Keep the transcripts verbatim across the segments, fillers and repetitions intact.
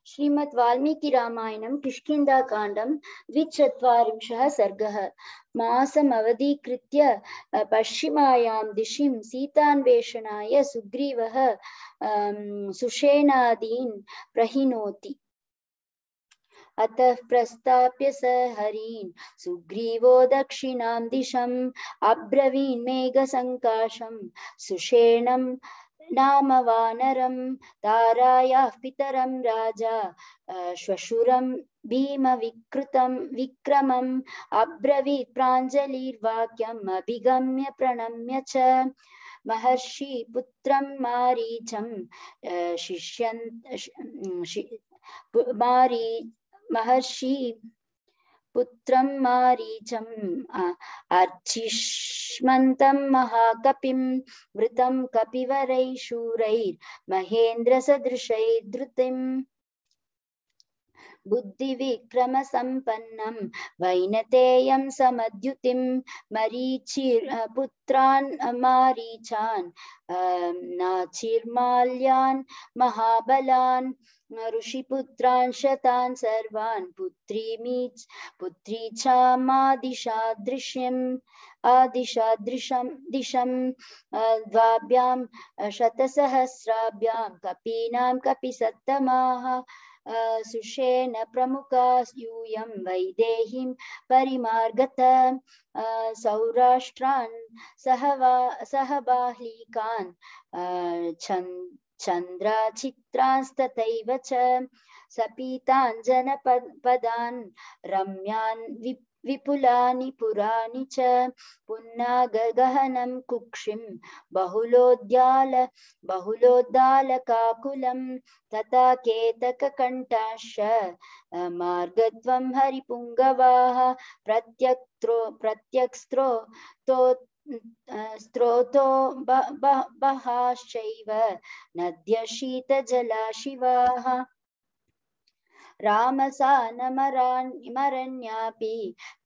श्रीमद् वाल्मीकि रामायणं किष्किन्धाकाण्डं द्विचत्वारिंशः सर्गः। मासमवधीकृत्य पश्चिमायां दिशिं सीतान्वेषणाय सुग्रीवः सुषेणादीन् प्रहिनोति। अतः प्रस्ताप्य स हरीन् सुग्रीवो दक्षिणां दिशम् अब्रवीन् मेघसङ्काशं सुषेणं नाम वानरं तारायाः पितरं राजा श्वशुरं भीमविकृतं विक्रमम् अब्रवीत् प्राञ्जलिर्वाक्यम् अभिगम्य प्रणम्य च महर्षि पुत्रं मारीचं शिष्यन् मारी महर्षि पुत्रं मारीचम् अर्चिष्मन्तं महाकपिं वृतं कपिवरैः शूरैर्महेन्द्रसदृशैर्धृतिम् बुद्धिविक्रमसम्पन्नं वैनतेयं समद्युतिं मरीचिपुत्रान् मारीचान् नाचिर्माल्यान् महाबलान् ऋषिपुत्रान् शतान् सर्वान् पुत्रीमीच पुत्री चामादिशादृश्यम् आदिशादृशं दिशं द्वाभ्यां शतसहस्राभ्यां कपीनां कपिसत्तमाः सुषेण प्रमुखा यूयं वैदेहीं परिमार्गत सौराष्ट्रान् सहवा सहबाह्लिकान् चन्द्राचित्रांस्तथैव च सपीतान् जनपदान् रम्यान् विपुलानि पुराणि च पुन्नागगहनं कुक्षिं बहुलोद्याल बहुलोद्दालकाकुलं तथा केतककण्ठाश्च मार्गद्वं हरिपुङ्गवाः प्रत्यक्त्रो प्रत्यक्स्त्रो तो स्त्रोतो बहाश्चैव नद्य शीतजलाशिवाः रामसानमरण्यापि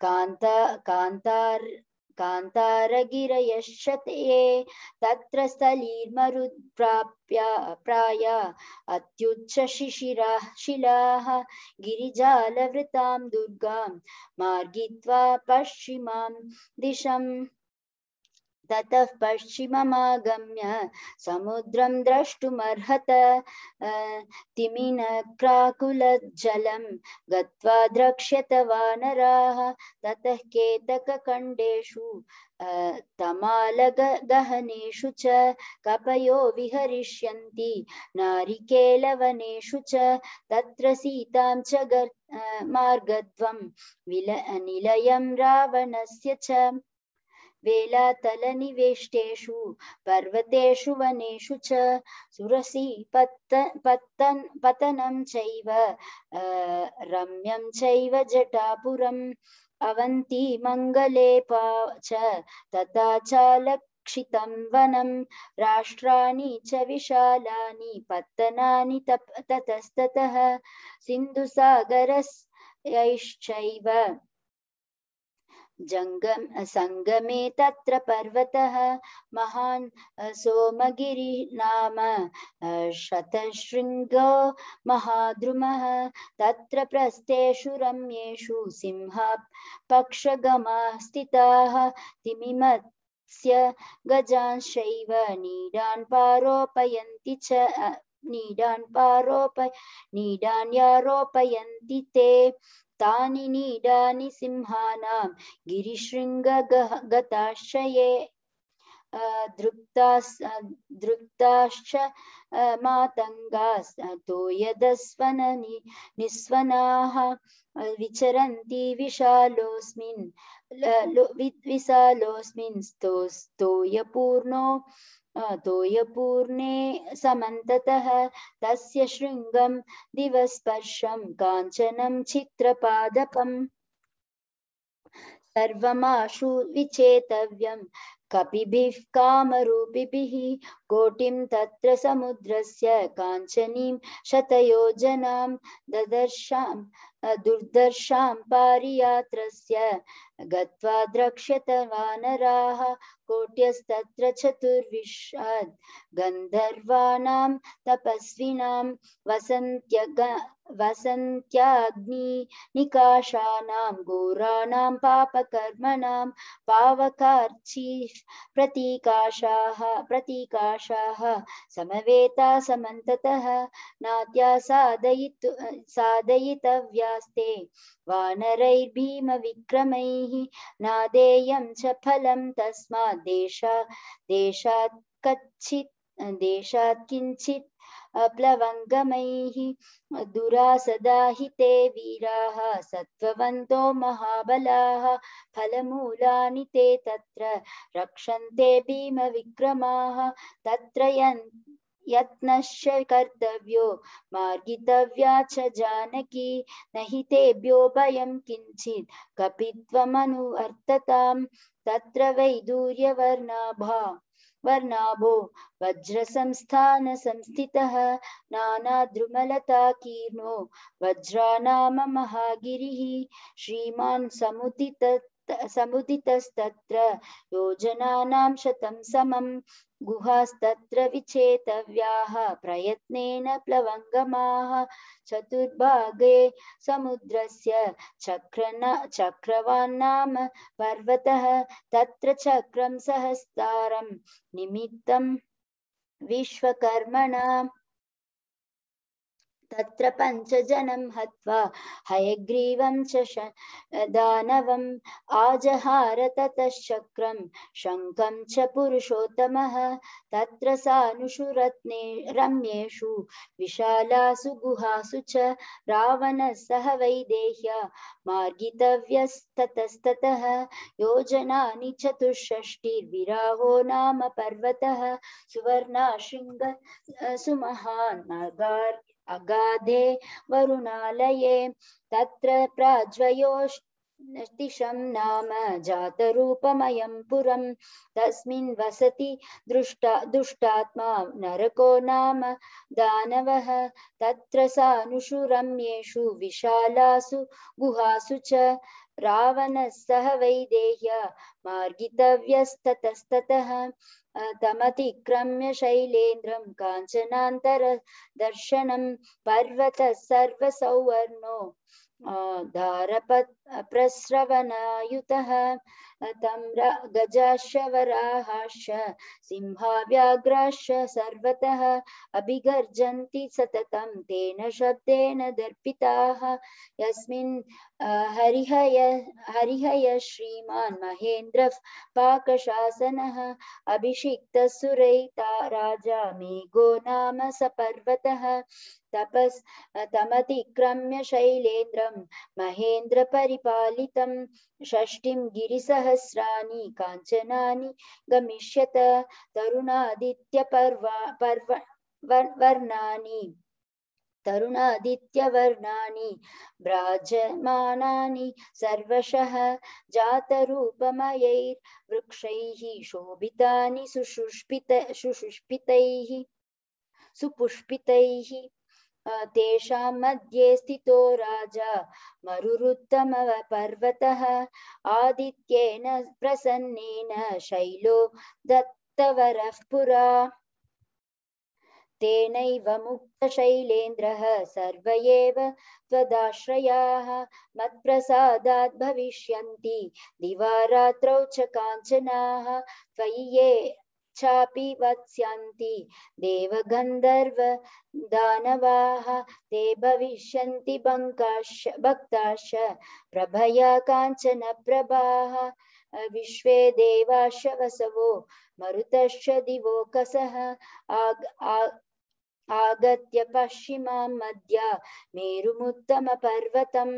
कान्ता कान्तार् कान्तारगिरयश्च ते तत्र स्थलीर्मरुत्प्राप्य प्राय अत्युच्चशिशिराः शिलाः गिरिजालवृतां दुर्गां मार्गित्वा पश्चिमां दिशम् ततः पश्चिममागम्य समुद्रं द्रष्टुमर्हत तिमिनक्राकुलजलं गत्वा द्रक्ष्यत वानराः ततः केतकखण्डेषु तमालगहनेषु च कपयो विहरिष्यन्ति नारिकेलवनेषु च तत्र सीतां च मार्गद्वं निलयं रावणस्य च वेलातलनिवेष्टेषु पर्वतेषु वनेषु च सुरसि पतन् पतनं चैव रम्यं चैव जटापुरम् अवन्ति मङ्गलेपा च तथा चालक्षितं वनं राष्ट्राणि च विशालानि पत्तनानि ततस्ततः सिन्धुसागरस्यैश्चैव जंगम संगमे तत्र पर्वतः महान् सोमगिरि नाम शतशृंगो महाद्रुमः तत्र प्रस्थेषु रम्येषु सिंहा पक्षगमाः स्थिताः तिमिमत्स्य गजांश्चैव नीडान् पारोपयन्ति च नीडान् पारोप नीडान् यारोपयन्ति ते तानि नीडानि सिंहानां गिरिशृङ्गगताश्च ये दृप्ताश्च मातङ्गास् तोयदस्वन निस्वनाः विचरन्ति विशालोऽस्मिन् विशालोऽस्मिन् स्तोयपूर्णो तोयपूर्णे समन्ततः तस्य शृङ्गं दिवस्पर्शं काञ्चनं चित्रपादपम् सर्वमाशु विचेतव्यं कपिभिः कामरूपिभिः कोटिं तत्र समुद्रस्य काञ्चनीं शतयोजनां ददर्शां दुर्दर्शां पारियात्रस्य गत्वा द्रक्ष्यत वानराः कोट्यस्तत्र चतुर्विंशत् गन्धर्वाणां तपस्विनां वसन्त्यग वसन्त्याग्नि निकाशानां घोराणां पापकर्मणां पावकार्ची प्रतीकाशाः प्रतीकाशाः समवेता समन्ततः नात्या साधयितु साधयितव्यास्ते वानरैर्भीमविक्रमैः नादेयं च फलं तस्मात् देशा देशात् कच्चित् देशात् किञ्चित् प्लवङ्गमैः दुरासदाहिते वीराः सत्त्ववन्तो महाबलाः फलमूलानि ते तत्र रक्षन्ते भीमविक्रमाः तत्र यत्नश्च कर्तव्यो मार्गितव्या च जानकी न हि तेभ्यो भयं किञ्चित् कपित्वमनुवर्तताम् तत्र वैदूर्यवर्णाभा वर्णाभो वज्रसंस्थान संस्थितः नानाद्रुमलताकीर्णो वज्रानाम महागिरिः श्रीमान् समुदित समुदितस्तत्र योजनानां शतं समं गुहास्तत्र विचेतव्याः प्रयत्नेन प्लवङ्गमाः चतुर्भागे समुद्रस्य चक्रन चक्रवान्नाम पर्वतः तत्र चक्रं सहस्तारं निमित्तं विश्वकर्मणा तत्र पञ्चजनं हत्वा हयग्रीवं च दानवम् आजहार ततश्चक्रं शङ्खं च पुरुषोत्तमः तत्र सानुषु रत्ने रम्येषु विशालासु गुहासु च रावणः सह वैदेह्या मार्गितव्यस्ततस्ततः योजनानि चतुष्षष्टिर्विराहो नाम पर्वतः सुवर्णाशृङ्ग सुमहान् मार्गार् अगाधे वरुणालये तत्र प्राज्वयोतिषं नाम जातरूपमयं पुरं तस्मिन् वसति दृष्टा दुष्टात्मा नरको नाम दानवः तत्र सानुषु रम्येषु विशालासु गुहासु च रावणः सह वैदेह्या मार्गितव्यस्ततस्ततः तमतिक्रम्य शैलेन्द्रं काञ्चनान्तरदर्शनं पर्वतः सर्वसौवर्णो धारपत् प्रस्रवणायुतः तं गजाश्च वराहाश्च सिंहाव्याघ्राश्च सर्वतः अभिगर्जन्ति सततं तेन शब्देन दर्पिताः यस्मिन् हरिहय हरिहय श्रीमान् महेन्द्रः पाकशासनः अभिषिक्तः सुरैता राजा मेघो नाम स पर्वतः तपस् तमतिक्रम्य शैलेन्द्रं महेन्द्र परिपालितं षष्टिं गिरिसहस्राणि काञ्चनानि गमिष्यत तरुणादित्य पर्वा पर्व वर्णानि तरुणादित्यवर्णानि भ्राजमानानि सर्वशः जातरूपमयैर्वृक्षैः शोभितानि सुषुष्पित सुषुष्पितैः सुपुष्पितैः तेषां मध्ये स्थितो राजा मरुरुत्तमपर्वतः आदित्येन प्रसन्नेन शैलो दत्तवरः पुरा तेनैव मुक्तशैलेन्द्रः सर्व एव त्वदाश्रयाः मत्प्रसादात् भविष्यन्ति दिवा रात्रौ च काञ्चनाः त्वयि ये चापि वत्स्यन्ति देवगन्धर्व दानवाः ते भविष्यन्ति भक्ताश्च प्रभया काञ्चन प्रभाः विश्वे देवाश्च वसवो मरुतश्च दिवोकसः आगत्य पश्चिमां मध्य मेरुमुत्तमपर्वतम्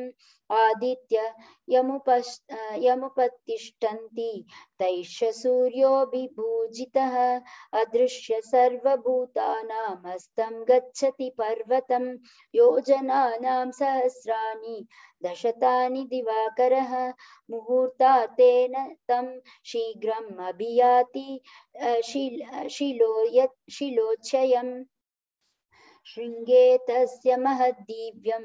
आदित्य यमुपस् यमुपतिष्ठन्ति तैश्च सूर्योऽभिभूजितः अदृश्य सर्वभूतानामस्तं गच्छति पर्वतं योजनानां सहस्राणि दशतानि दिवाकरः मुहूर्तातेन तं शीघ्रम् अभियाति शिल शिलो यत् शिलोच्चयम् शृङ्गे तस्य महद्दिव्यं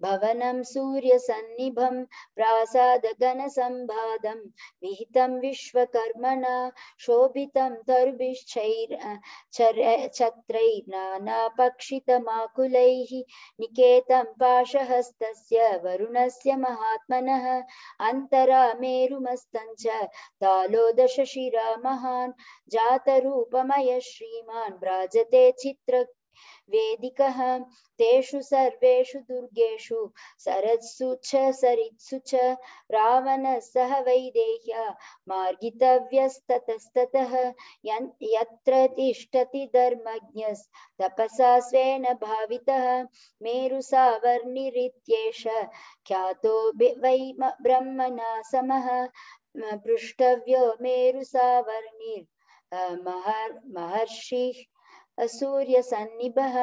भवनं सूर्यसन्निभं प्रासादगणसम्भादं विहितं विश्वकर्मणा शोभितं तरुभिश्चैर छत्रैर्नानापक्षितमाकुलैः निकेतं पाशहस्तस्य वरुणस्य महात्मनः अन्तरा मेरुमस्तञ्च तालोदशशिरा महान् जातरूपमय श्रीमान् भ्राजते चित्र वेदिकः तेषु सर्वेषु दुर्गेषु सरत्सु च सरित्सु च रावणः सह वैदेह्या मार्गितव्यस्ततस्ततः यत्र तिष्ठति धर्मज्ञस्तपसा स्वेन भावितः मेरुसावर्णिरित्येष ख्यातो वै ब्रह्मणा समः पृष्टव्यो मेरुसावर्णिर् महर्षिः सूर्यसन्निभः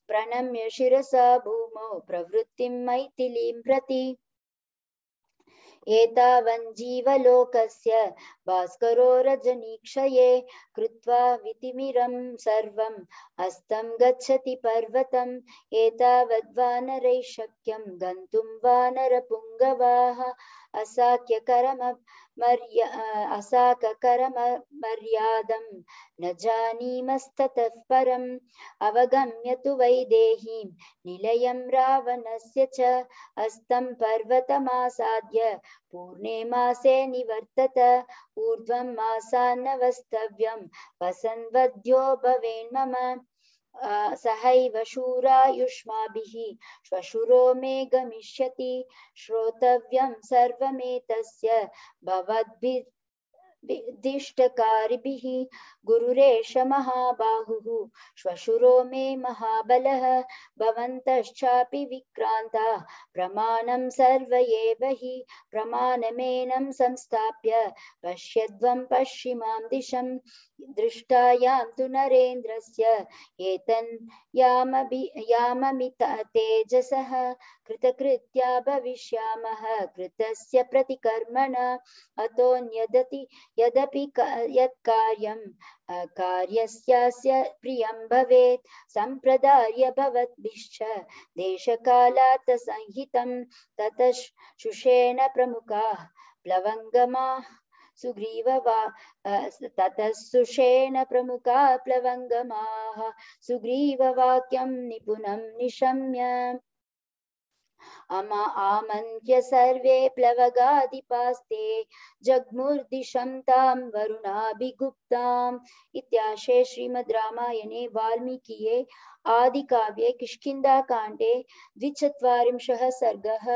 प्रणम्य शिरसा भूमौ प्रवृत्तिं मैथिलीं प्रति एतावञ्जीवलोकस्य भास्करो रजनीक्षये कृत्वा वितिमिरं सर्वं हस्तं गच्छति पर्वतम् एतावद्वानरैः शक्यं गन्तुं वानरपुङ्गवाः असाख्यकरम मर्या असाककरमर्यादं न जानीमस्ततः परम् अवगम्य तु वैदेहीं निलयं रावणस्य च हस्तं पर्वतमासाद्य पूर्णे मासे निवर्तत ऊर्ध्वं मासान्नवस्तव्यं वसन्वद्यो भवेन्मम सहैव शूरायुष्माभिः श्वशुरो मे गमिष्यति श्रोतव्यं सर्वमेतस्य भवद्भिर्दिष्टकारिभिः गुरुरेष महाबाहुः श्वशुरो मे महाबलः भवन्तश्चापि विक्रान्ता प्रमाणं सर्व एव हि प्रमाणमेनं संस्थाप्य पश्यध्वं पश्चिमां दिशं दृष्टायां तु नरेन्द्रस्य एतन् यामभि याममित तेजसः कृतकृत्या भविष्यामः कृतस्य प्रतिकर्मणा अतोऽन्यदति यदपि यत्कार्यं कार्यस्यास्य प्रियं भवेत् सम्प्रदाय भवद्भिश्च देशकालात् संहितं ततः शुषेण प्रमुखाः प्लवङ्गमाः सुग्रीववा ततः सुषेण प्रमुखा प्लवङ्गमाः सुग्रीववाक्यं निपुणं निशम्य अमा आमन्त्य सर्वे प्लवगाधिपास्ते जग्मुर्दिशं तां वरुणाभिगुप्ताम् इत्याशे श्रीमद् रामायणे वाल्मीकिये आदिकाव्ये किष्किन्धाकाण्डे द्विचत्वारिंशः सर्गः।